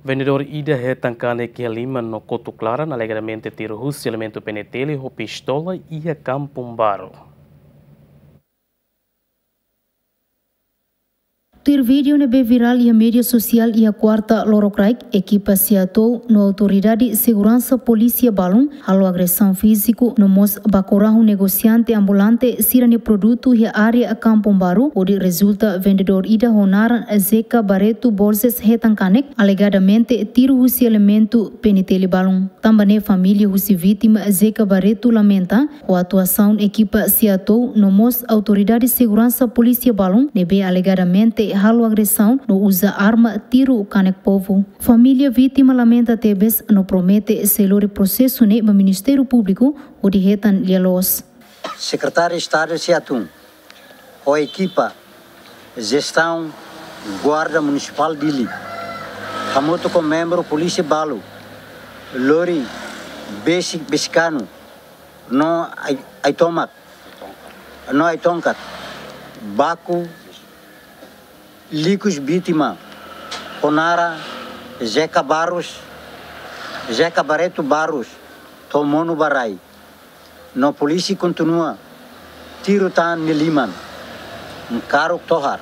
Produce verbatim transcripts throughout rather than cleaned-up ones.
Vendedór ida hetan kanek iha liman no kotuk laran, alegadamente tiru husi elementu P N T L ho pistola iha Kampung Baru. Tuir vídeo ne'ebé virál iha média sosiál iha kuarta lorokraik, ekipa SEATOU no autoridade seguransa polísia balun halo agresaun fíziku no mós baku rahun negosiante ambulante sira-nia produtu iha área Kampung Baru, hodi rezulta vendedór ida ho naran Zeca Barreto Borges hetan kanek, alegadamente tiru husi elementu P N T L balun. Tanba ne'e família husi vítima Zeca Barreto lamenta ho atuasaun ekipa SEATOU no mós autoridade seguransa polísia balun ne'ebé alegadamente halo agresaun no uza arma tiru kanek povu. Família vítima lamenta tebes no promete sei lori prosesu ne'e ba Ministériu Públiku hodi hetan lia-loos. Sekretáriu Estadu SEATOU ho ekipa jestaun Guarda Munisipál Dili, hamutuk ho membru polísia balu, lori besik, besikanu no ai-, ai-tomak, no ai-tongkat, baku likus vítima ho naran Zeca Barros, Zeca Barreto Barros, to'o monu ba rai. No polísia kontinua tiru tan nia liman, nkaruk tohar.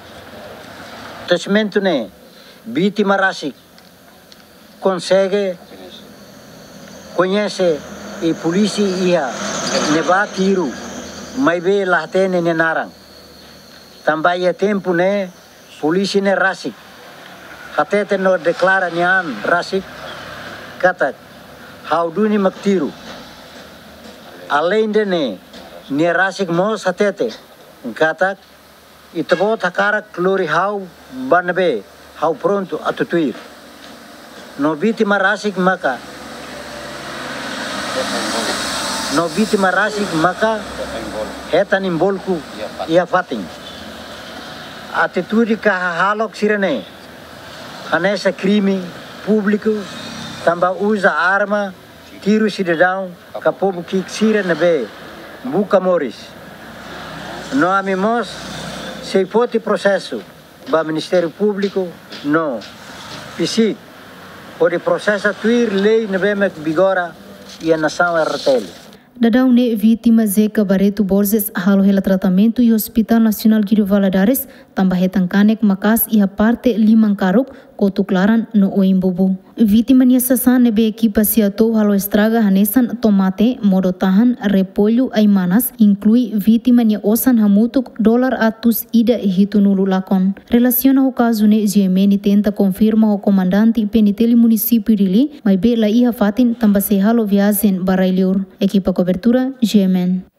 Testemuña ne'e, vítima rasik konsege koñese i polísia iha ne'ebá tiru, maibé la hatene nia naran. Tanba iha tempu ne'e polísia ne'e rasik hatete no deklara nia an rasik katak ha'u duni mak tiru. Aleinde ne'e, nia rasik mós hatete katak ita-boot hakarak lori ha'u ba ne'ebé, ha'u prontu atu tuir. No vítima rasik maka, no vítima rasik maka hetan envolve iha fatin. Atitude ka hahalok sira-ne'e hanesan krime públiku, tanba uza arma tiru sidadaun ka povu ki'ik sira ne'ebé buka moris. No ami mós sei foti prosesu ba Ministériu Públiku no PCIC hodi prosesa tuir lei ne'ebé mak vigora iha nasaun R T L. Daudaun ne'e vítima Zeca Barreto Borges halo hela tratamentu iha Hospital Nasionál Guido Valadares, tanba hetan kanek maka'as iha parte liman karuk, kotuk laran no oin bubu. Vítima nia sasán ne'ebé ekipa SEATOU halo estraga hanesan tomate, modo-tahan, repollu, ai-manas, inklui vítima nia osan hamutuk dolar atus ida hitunulu lakon. Relasiona ho kazu ne'e, G M N tenta konfirma ho komandante P N T L munisípiu Dili, maibé la iha fatin tanba sei halo viajen ba rai-liur. Ekipa kobertura, G M N.